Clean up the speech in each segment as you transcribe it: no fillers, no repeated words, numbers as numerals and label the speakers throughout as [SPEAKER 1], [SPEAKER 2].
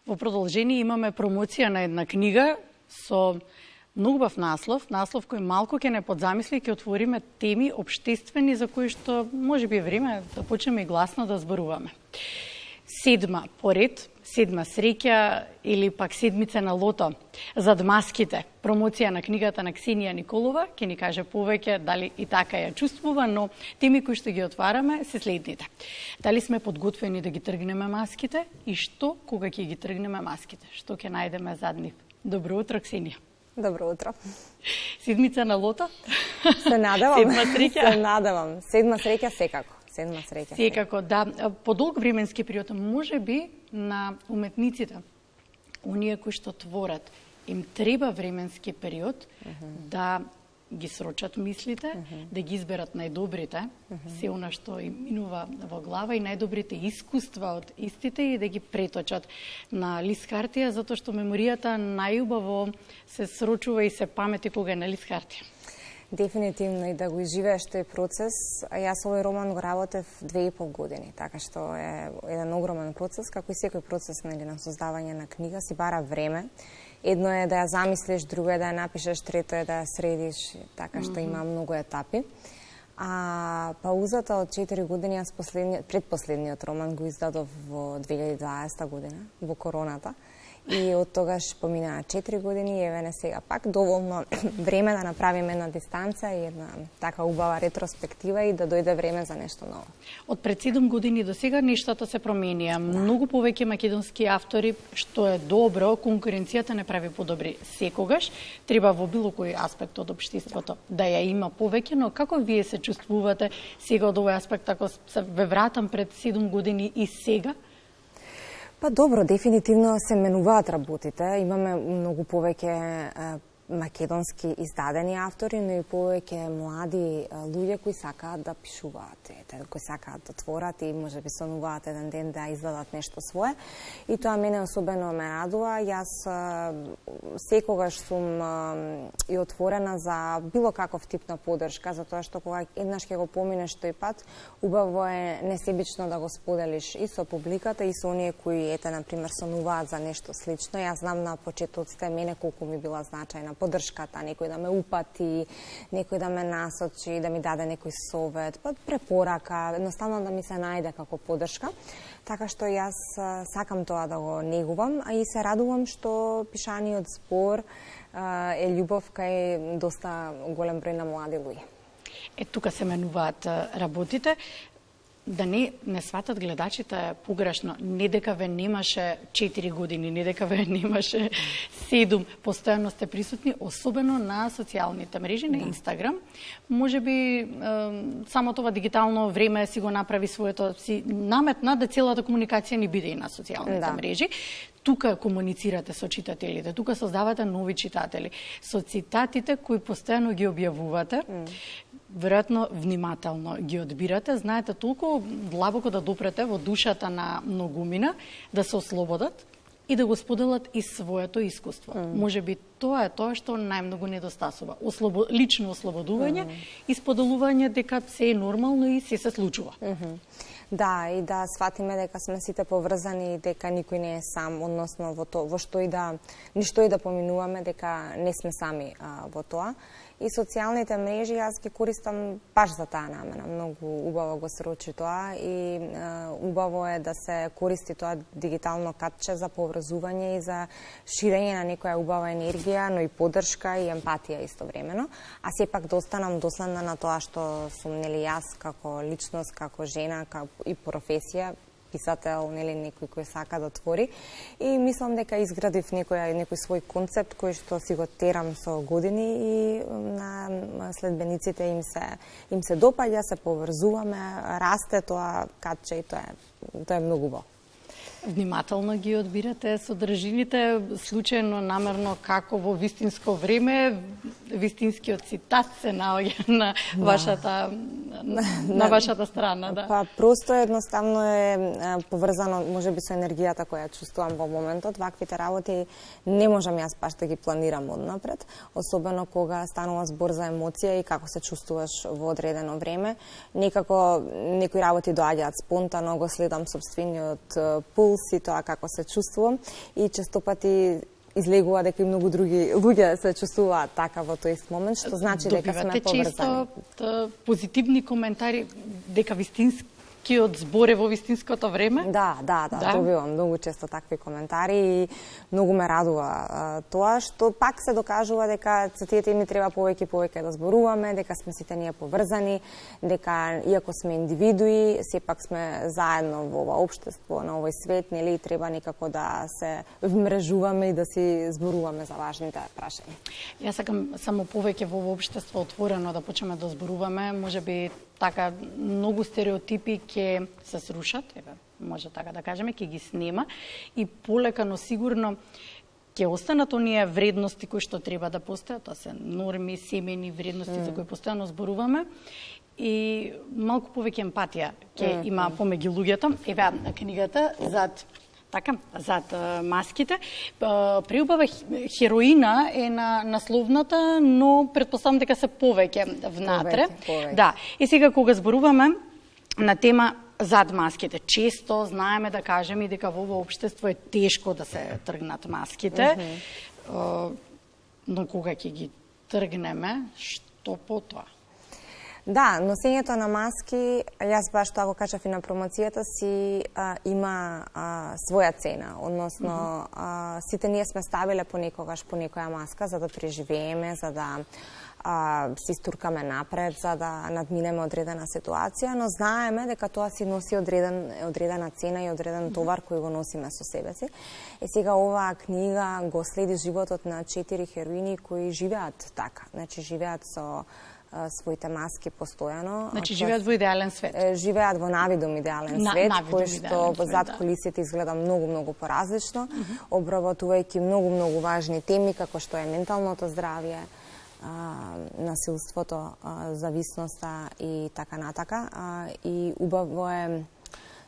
[SPEAKER 1] Во продолжение имаме промоција на една книга со многу бав наслов кој малку ќе не подзамисли, ќе отвориме теми општествени за кои што можеби е време да почнеме и гласно да зборуваме. Седма поред, седма среќа или пак седмица на лото зад маските. Промоција на книгата на Ксенија Николова, ќе ни каже повеќе дали и така ја чувствува, но теми кои што ги отвараме се следните. Дали сме подготвени да ги тргнеме маските и што кога ќе ги тргнеме маските? Што ќе најдеме зад нив? Добро утро, Ксенија.
[SPEAKER 2] Добро утро.
[SPEAKER 1] Седмица на лото?
[SPEAKER 2] Се надевам.
[SPEAKER 1] Седма среќа?
[SPEAKER 2] Се надевам. Седма среќа секако. Седма среќа.
[SPEAKER 1] Секако, да. По долг временски период, може би на уметниците, оние кои што творат, им треба временски период да ги срочат мислите, да ги изберат најдобрите, се она што им минува во глава и најдобрите искуства од истите и да ги преточат на лист хартија, затоа што меморијата најубаво се срочува и се памети кога е на лист хартија.
[SPEAKER 2] Дефинитивно и да го изживееш тој процес. Јас овој роман го работев 2,5 години, така што е еден огромен процес, како и секој процес на создавање на книга си бара време. Едно е да ја замислиш, друго е да ја напишеш, трето е да ја средиш, така што има многу етапи. А паузата од 4 години, јас предпоследниот роман го издадов во 2020 година, во короната. И од тогаш поминаа 4 години и еве не сега пак доволно време да направиме една дистанца и една така убава ретроспектива и да дојде време за нешто ново.
[SPEAKER 1] Од пред 7 години до сега нештата се променија. Многу повеќе македонски автори, што е добро, конкуренцијата не прави подобри секогаш. Треба во било кој аспект од општеството да ја има повеќе, но како вие се чувствувате сега од овој аспект, ако се ве вратам пред 7 години и сега?
[SPEAKER 2] Па добро, дефинитивно се менуваат работите. Имаме многу повеќе македонски издадени автори, но и повеќе млади луѓе кои сакаат да пишуваат, кои сакаат да творат и можеби сонуваат еден ден да издадат нешто свое. И тоа мене особено ме радува. Јас секогаш сум и отворена за било каков тип на поддршка, затоа што кога еднаш ќе го поминеш тој пат, убаво е несебично да го споделиш и со публиката и со оние кои на пример сонуваат за нешто слично. Јас знам на почетоците мене колку ми била значајна поддршката, некој да ме упати, некој да ме насочи, да ми даде некој совет, препорака, едноставно да ми се најде како поддршка. Така што јас сакам тоа да го негувам, а и се радувам што пишаниот збор е љубов кај доста голем број на млади луѓе.
[SPEAKER 1] Тука се менуваат работите. Да не сватат гледачите погрешно, не дека ве немаше 4 години, не дека ве немаше 7, постојано сте присутни, особено на социјалните мрежи, на Инстаграм. Можеби само това дигитално време си го направи своето, си наметна да целата комуникација ни биде и на социјалните мрежи. Тука комуницирате со читателите, тука создавате нови читатели. Со цитатите кои постојано ги објавувате, веројатно внимателно ги одбирате, знаете толку длабоко да допрете во душата на многумина, да се ослободат и да го споделат и своето искуство. Можеби тоа е тоа што најмногу недостасува. Лично ослободување и споделување дека се е нормално и се случува.
[SPEAKER 2] Да, и да сватиме дека сме сите поврзани, дека никој не е сам, односно во што и да, ништо и да поминуваме, дека не сме сами во тоа. И социјалните мрежи јас ги користам баш за таа намена. Многу убаво го срочи тоа и убаво е да се користи тоа дигитално катче за поврзување и за ширење на некоја убава енергија, но и поддршка и емпатија истовремено. А сепак да останам доследна на тоа што сум јас како личност, како жена, и професија, писател, некој кој сака да твори. И мислам дека изградив некој свој концепт кој што си го терам со години и на следбениците им се допаѓа, се поврзуваме, расте тоа катче и тоа е многу убаво.
[SPEAKER 1] Внимателно ги одбирате содржините, случајно, намерно, како во вистинско време, вистинскиот цитат се наоѓа на вашата страна, да.
[SPEAKER 2] Па просто едноставно е поврзано можеби со енергијата која чувствувам во моментот. Ваквите работи не можам јас баш да ги планирам однапред, особено кога станува збор за емоција и како се чувствуваш во одредено време. Некако некои работи доаѓаат спонтано, го следам сопствениот пулс пулс и тоа како се чувствувам и често пати излегува дека и многу други луѓе се чувствуваат така во тој ист момент, што значи дека сме поврзани.
[SPEAKER 1] Добивате често позитивни коментари дека вистинскиот збор е во вистинското време?
[SPEAKER 2] Да, добивам многу често такви коментари и многу ме радува тоа што пак се докажува дека за тие теми треба повеќе да зборуваме, дека сме сите ние поврзани, дека иако сме индивидуи, сепак сме заедно во ова општество, на овој свет, нели, треба некако да се вмрежуваме и да си зборуваме за важните прашања.
[SPEAKER 1] Јас сакам само повеќе во ова општество отворено да почнеме да зборуваме, можеби така многу стереотипи ќе се срушат, еве, може така да кажеме, ќе ги снема и полека, но сигурно ќе останат оние вредности кои што треба да постојат, тоа се норми, семени вредности за кои постојано зборуваме и малку повеќе емпатија ќе има помеѓу луѓето. Еве книгата зад маските. Преубава хероина е на насловната, но претпоставам дека се повеќе внатре.
[SPEAKER 2] Повеќе.
[SPEAKER 1] Да. И сега кога зборуваме на тема зад маските, често знаеме да кажеме дека во ова општество е тешко да се тргнат маските. Но кога ќе ги тргнеме, што потоа?
[SPEAKER 2] Да, носењето на маски, јас баш тоа го кажав и на промоцијата си, има своја цена, односно сите ние сме ставиле понекогаш по некоја маска за да преживееме, за да се истуркаме напред, за да надминеме одредена ситуација, но знаеме дека тоа си носи одредена цена и одреден товар кој го носиме со себе си. И сега оваа книга го следи животот на 4 хероини кои живеат така, значи живеат со своите маски постојано.
[SPEAKER 1] Значи живеат во идеален свет.
[SPEAKER 2] Живеат во навидум идеален свет, кој што зад кулисите изгледа многу поразлично, обработувајќи многу важни теми како што е менталното здравје, насилството, зависноста и така натака. И убаво е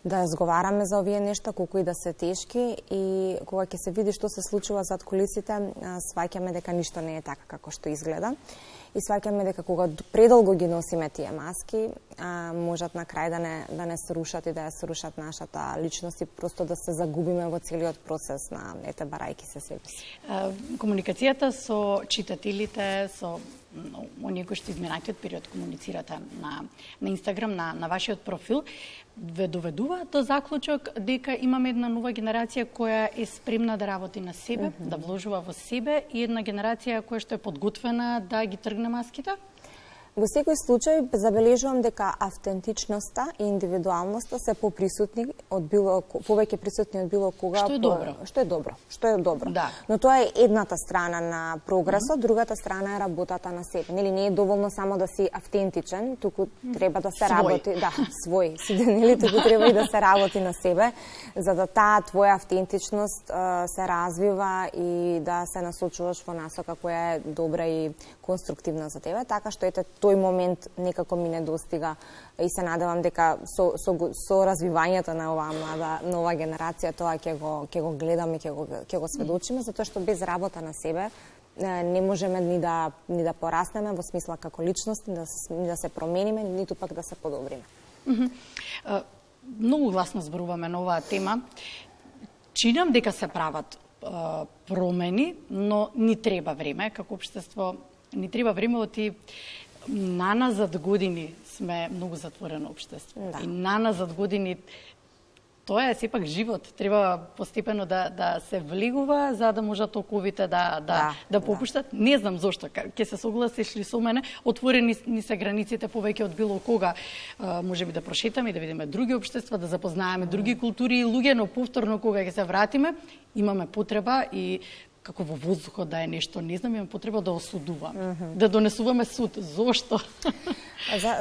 [SPEAKER 2] да разговараме за овие нешта, колку и да се тешки, и кога ќе се види што се случува зад кулисите, сваќаме дека ништо не е така како што изгледа. И сваќаме дека кога предолго ги носиме тие маски, можат на крај да не срушат и да ја срушат нашата личност и просто да се загубиме во целиот процес на барајки се себе си.
[SPEAKER 1] Комуникацијата со читателите, со оние кои што изминатиот период комуницирате на Инстаграм, на вашиот профил, ве доведува до заклучок дека имаме една нова генерација која е спремна да работи на себе, да вложува во себе, и една генерација која што е подготвена да ги тргне маските?
[SPEAKER 2] Во секој случај забележувам дека автентичноста и индивидуалноста се поприсутни од повеќе присутни од било кога.
[SPEAKER 1] Што е добро.
[SPEAKER 2] Да. Но тоа е едната страна на прогресот, другата страна е работата на себе. Нели не е доволно само да си автентичен, туку треба да се работи, свој, нели, туку треба и да се работи на себе, за да таа твоја автентичност се развива и да се насочуваш во насока која е добра и конструктивна за тебе, така што ете тој момент некако ми не достига и се надевам дека со развивањето на оваа нова генерација тоа ќе го гледаме, ќе го сведочиме, затоа што без работа на себе не можеме ни да пораснеме во смисла како личности, ни да се промениме, ниту пак да се подобриме.
[SPEAKER 1] Многу гласно зборуваме на оваа тема. Чинам дека се прават промени, но ни треба време како општество. Ни треба време, оти наназад години сме многу затворено општество. Да. И наназад години тоа е сепак живот. Треба постепено да се влегува за да можат оковите да попуштат. Не знам зошто, ќе се согласиш ли со мене, отворени ни се границите повеќе од било кога. Можеби да прошетаме и да видиме други општества, да запознаеме други култури и луѓе, но повторно кога ќе се вратиме, имаме потреба и како во воздухот да е нешто, не знам, имам потреба да осудуваме, да донесуваме суд. Зошто?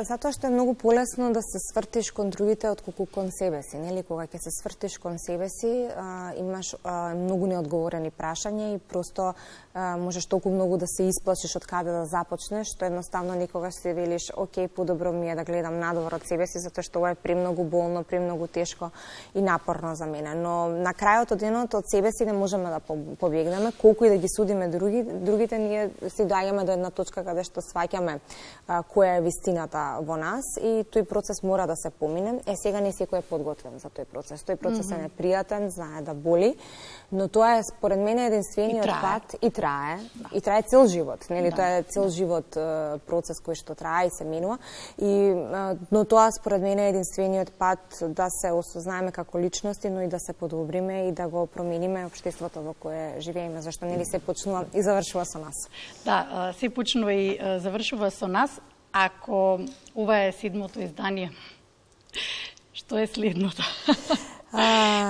[SPEAKER 2] Затоа што е многу полесно да се свртиш кон другите отколку кон себе си, нели? Кога ќе се свртиш кон себе си, имаш многу неодговорени прашања и просто можеш толку многу да се исплашиш од каде да започнеш, што едноставно никогаш си велиш, окей, подобро ми е да гледам надвор од себе си, затоа што ова е премногу болно, премногу тешко и напорно за мене. Но на крајот од денот од себе си не можеме да побегнеме, колку и да ги судиме другите, ние си доаѓаме до една точка каде што сваќаме која е вистина вистината во нас и тој процес мора да се помине. Сега не секој е подготвен за тој процес. Тој процес е непријатен, знае да боли, но тоа е според мене единствениот пат и трае. И трае цел живот, нели? Тоа е цел живот процес кој што трае и се менува. Но тоа според мене е единствениот пат да се осознаеме како личности, но и да се подобриме и да го промениме општеството во кое живееме, зашто нели се почнува и завршува со нас.
[SPEAKER 1] Да, се почнува и завршува со нас. Ако ова е 7-то издание, што е следното?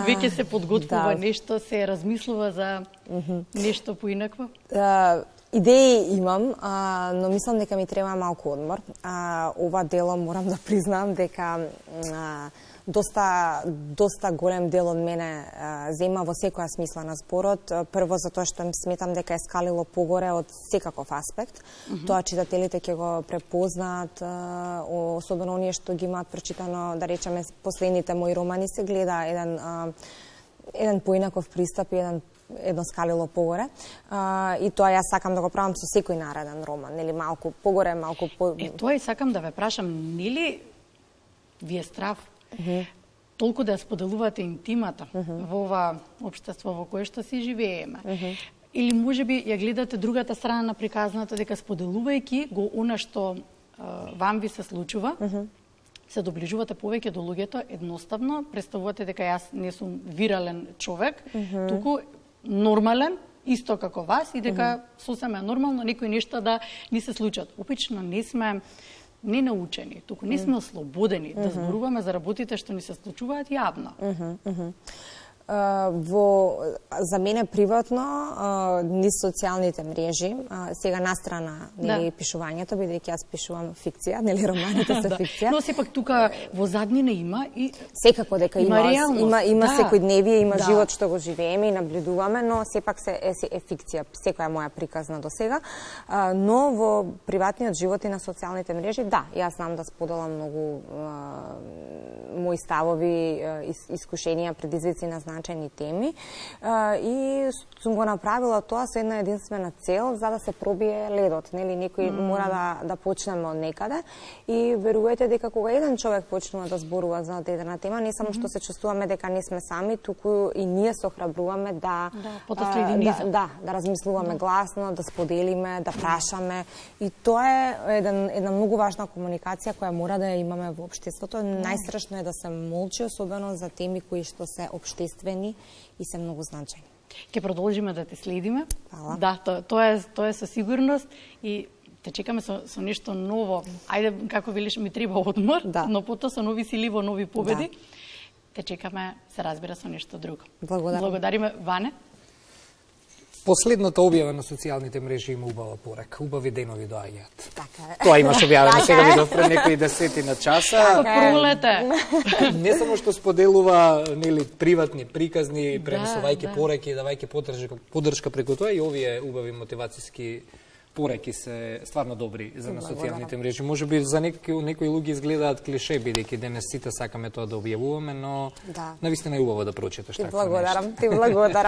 [SPEAKER 1] Веќе се подготвува нешто, се размислува за нешто поинакво?
[SPEAKER 2] Идеи имам, но мислам дека ми треба малку одмор. Ова дело морам да признам дека доста голем дел од мене зема во секоја смисла на зборот. Прво затоа што сметам дека е скалило погоре од секаков аспект. Тоа читателите ќе го препознаат, особено оние што ги имаат прочитано, да речеме, последните мои романи, се гледа еден поинаков пристап и едно скалило погоре. И тоа јас сакам да го правам со секој нареден роман, нели, малку погоре, малку по...
[SPEAKER 1] Тоа и сакам да ве прашам, нели ви е страв толку да споделувате интимата во ова општество во кое што си живееме? Или можеби ја гледате другата страна на приказната, дека споделувајќи го она што вам ви се случува, се доближувате повеќе до луѓето, едноставно представувате дека јас не сум вирален човек, туку нормален, исто како вас, и дека сосема е нормално некои нешта да ни се случат. Опично не сме не научени, туку не сме ослободени да зборуваме за работите што ни се случуваат јавно.
[SPEAKER 2] За мене приватно, низ социјалните мрежи, сега настрана нели пишувањето, бидејќи јас пишувам фикција, нели романите се фикција.
[SPEAKER 1] Но сепак тука во заднина има и
[SPEAKER 2] секако дека има секојдневие, има живот што го живееме и наблюдуваме, но сепак е фикција, секоја моја приказна до сега. Но во приватниот живот и на социјалните мрежи, да, јас знам да споделам многу мои ставови, искушенија, предизвици на значени теми, и сум го направила тоа со една единствена цел, за да се пробие ледот, нели, некој мора да почнеме од некаде, и верувајте дека кога еден човек почнува да зборува за дадена тема, не само што се чувствуваме дека не сме сами, туку и ние се охрабруваме да размислуваме гласно, да споделиме, да прашаме, и тоа е една многу важна комуникација која мора да ја имаме во општеството. Најстрашно е да се молчи, особено за теми кои што се општествени и се многу значајни.
[SPEAKER 1] Ќе продолжиме да те следиме.
[SPEAKER 2] Фала.
[SPEAKER 1] Да, тоа е со сигурност, и те чекаме со нешто ново. Ајде, како велиш, ми треба одмор, но потоа со нови сили во нови победи. Те чекаме, се разбира, со нешто друго. Благодариме, Ване.
[SPEAKER 3] Последната објава на социјалните мрежи има убава порака. Убави денови доаѓаат.
[SPEAKER 2] Така е.
[SPEAKER 3] Тоа имаш објавено, сега ми допре некои десетина часа.
[SPEAKER 1] Пролете.
[SPEAKER 3] Не само што споделува, нели, приватни приказни, пренесувајќи пораки, давајќи поддршка преку тоа, и овие убави мотивацијски пораки се стварно добри за на социјалните мрежи. Можеби за некои луѓе изгледаат клише, бидејќи денес сите сакаме тоа да објавуваме, но навистина е убаво да прочиташ така нешто.
[SPEAKER 2] Ти благодарам.